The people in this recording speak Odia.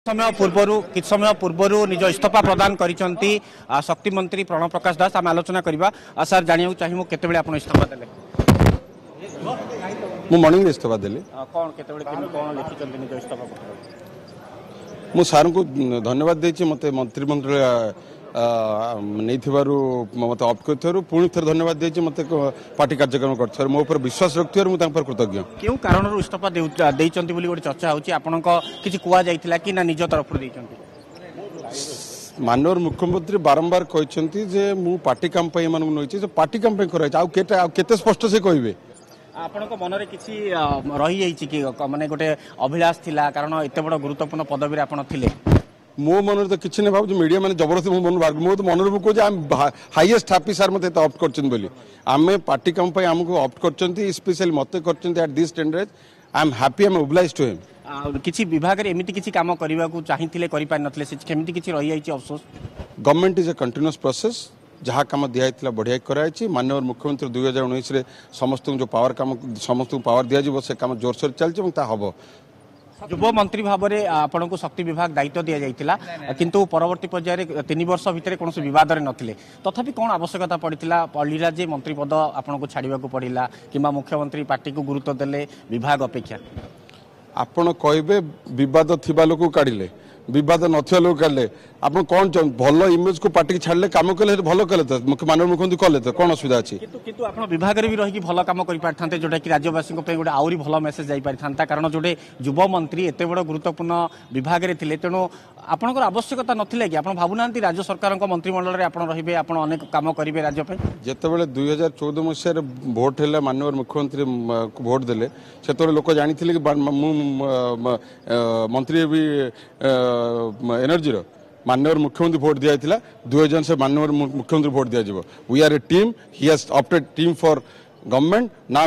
ସମୟ ପୂର୍ବରୁ, କିଛି ସମୟ ପୂର୍ବରୁ ନିଜ ଇସ୍ତଫା ପ୍ରଦାନ କରିଛନ୍ତି ଶକ୍ତି ମନ୍ତ୍ରୀ ପ୍ରଣବ ପ୍ରକାଶ ଦାସ। ଆମେ ଆଲୋଚନା କରିବା। ସାର୍, ଜାଣିବାକୁ ଚାହିଁବୁ, କେତେବେଳେ ଆପଣ ଇସ୍ତଫା ଦେଲେ? ମୁଁ ମର୍ଣ୍ଣିଂରେ ଇସ୍ତଫା ଦେଲି। କ'ଣ, କେତେବେଳେ, କେମିତି, କ'ଣ ଲେଖିଛନ୍ତି ନିଜ ଇସ୍ତଫା ପତ୍ର? ମୁଁ ସାର୍ଙ୍କୁ ଧନ୍ୟବାଦ ଦେଇଛି ମୋତେ ମନ୍ତ୍ରିମଣ୍ଡଳ ନେଇଥିବାରୁ, ମୋତେ ଅପ୍ଟ କରିଥିବାରୁ। ପୁଣି ଥରେ ଧନ୍ୟବାଦ ଦେଇଛି ମୋତେ ପାର୍ଟି କାର୍ଯ୍ୟକ୍ରମ କରିଥିବାରୁ, ମୋ ଉପରେ ବିଶ୍ୱାସ ରଖିଥିବାରୁ ମୁଁ ତାଙ୍କ ଉପରେ କୃତଜ୍ଞ। କେଉଁ କାରଣରୁ ଇସ୍ତଫା ଦେଇଛନ୍ତି ବୋଲି ଗୋଟେ ଚର୍ଚ୍ଚା ହେଉଛି? ଆପଣଙ୍କ କିଛି କୁହାଯାଇଥିଲା କି ନା ନିଜ ତରଫରୁ ଦେଇଛନ୍ତି? ମାନ୍ୟବର ମୁଖ୍ୟମନ୍ତ୍ରୀ ବାରମ୍ବାର କହିଛନ୍ତି ଯେ ମୁଁ ପାର୍ଟି କାମ ପାଇଁ ଏମାନଙ୍କୁ ନେଇଛି। ସେ ପାର୍ଟି କାମ ପାଇଁ କରାଯାଇଛି, ଆଉ କେତେ, ଆଉ କେତେ ସ୍ପଷ୍ଟ ସେ କହିବେ? ଆପଣଙ୍କ ମନରେ କିଛି ରହିଯାଇଛି କି? ମାନେ ଗୋଟେ ଅଭିଳାଷ ଥିଲା, କାରଣ ଏତେ ବଡ଼ ଗୁରୁତ୍ୱପୂର୍ଣ୍ଣ ପଦବୀରେ ଆପଣ ଥିଲେ। ମୋ ମନରେ ତ କିଛି ନାହିଁ। ଭାବୁଛି ମିଡ଼ିଆ ମାନେ ଜବରଦସ୍ତି ମୋ ମନରୁ ବାହାର। ମୋ ତ ମନରେ ମୁଁ କହୁଛି, I highest happy sir ମୋତେ ଏତେ ଅପ୍ଟ କରିଛନ୍ତି ବୋଲି। ଆମେ ପାର୍ଟି କାମ ପାଇଁ ଆମକୁ ଅପ୍ଟ କରିଛନ୍ତି, ସ୍ପେଶାଲି ମୋତେ କରିଛନ୍ତି। At this tender I am happy, I am obliged to him. କିଛି ବିଭାଗରେ ଏମିତି କିଛି କାମ କରିବାକୁ ଚାହିଁଥିଲେ, କରିପାରିନଥିଲେ, ସେ କେମିତି କିଛି ରହିଯାଇଛି ଅଫସୋସ? Government is a continuous process. ଯାହା କାମ ଦିଆହେଇଥିଲା ବଢ଼ିଆ କରାଯାଇଛି। ମାନ୍ୟବର ମୁଖ୍ୟମନ୍ତ୍ରୀ 2019ରେ ସମସ୍ତଙ୍କୁ ଯେଉଁ ପାୱାର କାମ, ସମସ୍ତଙ୍କୁ ପାୱାର ଦିଆଯିବ, ସେ କାମ ଜୋରସୋର ଚାଲିଛି ଏବଂ ତାହା ହେବ। ଯୁବ ମନ୍ତ୍ରୀ ଭାବରେ ଆପଣଙ୍କୁ ଶକ୍ତି ବିଭାଗ ଦାୟିତ୍ୱ ଦିଆଯାଇଥିଲା, କିନ୍ତୁ ପରବର୍ତ୍ତୀ ପର୍ଯ୍ୟାୟରେ 3 ବର୍ଷ ଭିତରେ କୌଣସି ବିବାଦରେ ନଥିଲେ। ତଥାପି କ'ଣ ଆବଶ୍ୟକତା ପଡ଼ିଥିଲା, ପଡ଼ିଲା ଯେ ମନ୍ତ୍ରୀ ପଦ ଆପଣଙ୍କୁ ଛାଡ଼ିବାକୁ ପଡ଼ିଲା, କିମ୍ବା ମୁଖ୍ୟମନ୍ତ୍ରୀ ପାର୍ଟିକୁ ଗୁରୁତ୍ୱ ଦେଲେ ବିଭାଗ ଅପେକ୍ଷା? ଆପଣ କହିବେ ବିବାଦ ଥିବା ଲୋକକୁ କାଢ଼ିଲେ, ବିବାଦ ନଥିବା ଲୋକ କାଢ଼ିଲେ, ଆପଣ କ'ଣ ଭଲ ଇମେଜକୁ ପାର୍ଟିକି ଛାଡ଼ିଲେ? କାମ କଲେ, ଭଲ କଲେ ତ, ମୁଖ୍ୟ ମାନନୀୟ ମୁଖ୍ୟମନ୍ତ୍ରୀ କଲେ ତ କ'ଣ ଅସୁବିଧା ଅଛି? କିନ୍ତୁ ଆପଣ ବିଭାଗରେ ବି ରହିକି ଭଲ କାମ କରିପାରିଥାନ୍ତେ, ଯୋଉଟାକି ରାଜ୍ୟବାସୀଙ୍କ ପାଇଁ ଗୋଟେ ଆହୁରି ଭଲ ମେସେଜ ଯାଇପାରିଥାନ୍ତା। କାରଣ ଯୋଉଟେ ଯୁବ ମନ୍ତ୍ରୀ ଏତେ ବଡ଼ ଗୁରୁତ୍ୱପୂର୍ଣ୍ଣ ବିଭାଗରେ ଥିଲେ, ତେଣୁ ଆପଣଙ୍କର ଆବଶ୍ୟକତା ନଥିଲା କି? ଆପଣ ଭାବୁନାହାନ୍ତି ରାଜ୍ୟ ସରକାରଙ୍କ ମନ୍ତ୍ରିମଣ୍ଡଳରେ ଆପଣ ରହିବେ, ଆପଣ ଅନେକ କାମ କରିବେ ରାଜ୍ୟ ପାଇଁ? ଯେତେବେଳେ 2014 ମସିହାରେ ଭୋଟ ହେଲା, ମାନ୍ୟବର ମୁଖ୍ୟମନ୍ତ୍ରୀ ଭୋଟ ଦେଲେ, ସେତେବେଳେ ଲୋକ ଜାଣିଥିଲେ କି ମୁଁ ମନ୍ତ୍ରୀ ହେବି ଏନର୍ଜିର? ମାନ୍ୟବର ମୁଖ୍ୟମନ୍ତ୍ରୀ ଭୋଟ ଦିଆଯାଇଥିଲା 2000, ସେ ମାନ୍ୟବର ମୁଖ୍ୟମନ୍ତ୍ରୀ ଭୋଟ ଦିଆଯିବ। We are a team, he has opted team for government now.